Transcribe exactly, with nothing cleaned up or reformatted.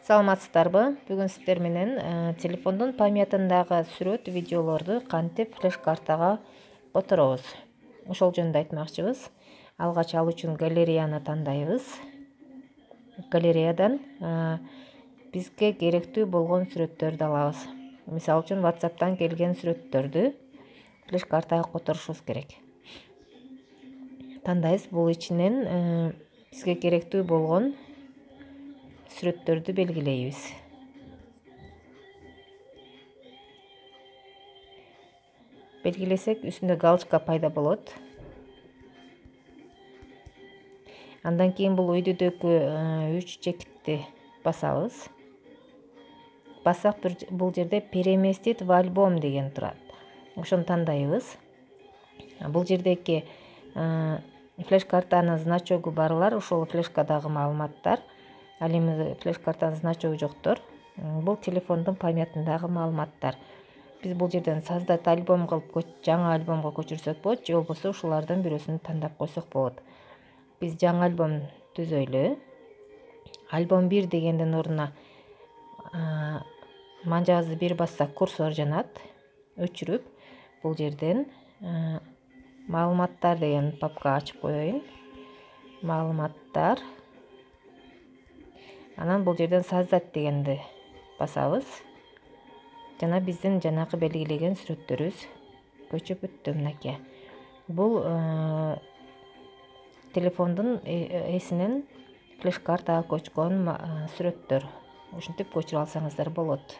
Саламатсыздарбы? Бүгүн сиздер менен телефондун памятындагы сүрөт, видеолорду кантип флеш картага которобуз. Ошол жөнүндө айтмакчыбыз. Алгач ал үчүн галереяны тандайбыз. Галереядан бизге керектүү болгон сүрөттөрдү алабыз. Мисалы үчүн WhatsApp'тан келген сүрөттөрдү флеш картага которушубуз керек. Тандайбыз. Бул ичинен бизге керектүү болгон сүрөттөрдү белгилейбиз. Белгилесек, үстүндө галочка пайда болот. Андан кийин бул үйдүдөгү үч чекитти басабыз. Бассак бул жерде переместить в альбом деген турат. Ошону тандайбыз. Бул жердеги флеш картанын значогу барлар ошол флешкадагы маалыматтар. Ал эми флеш картанын значогу жоктор. Бул телефондун памятындагы маалыматтар. Биз бул жерден создать альбом кылып, жаңы альбомго көчүрсөк болот, же болбосо ушулардан бирөөсүн тандап койсок болот. Биз жаңы альбом түзөйлү. Альбом бир дегендин ордуна манжабызды бир бассак курсор жанат. Өчүрүп, бул жерден маалыматтар деген папка ачып коеюн. Маалыматтар. Анан бул жерден создать дегенди басабыз. Жана биздин жанакы белгилеген сүрөттөрүбүз көчүп өттү мынакей. Бул телефондун эсинен флеш картага көчкөн сүрөттөр. Ушинтип көчүрүп алсаңыздар болот.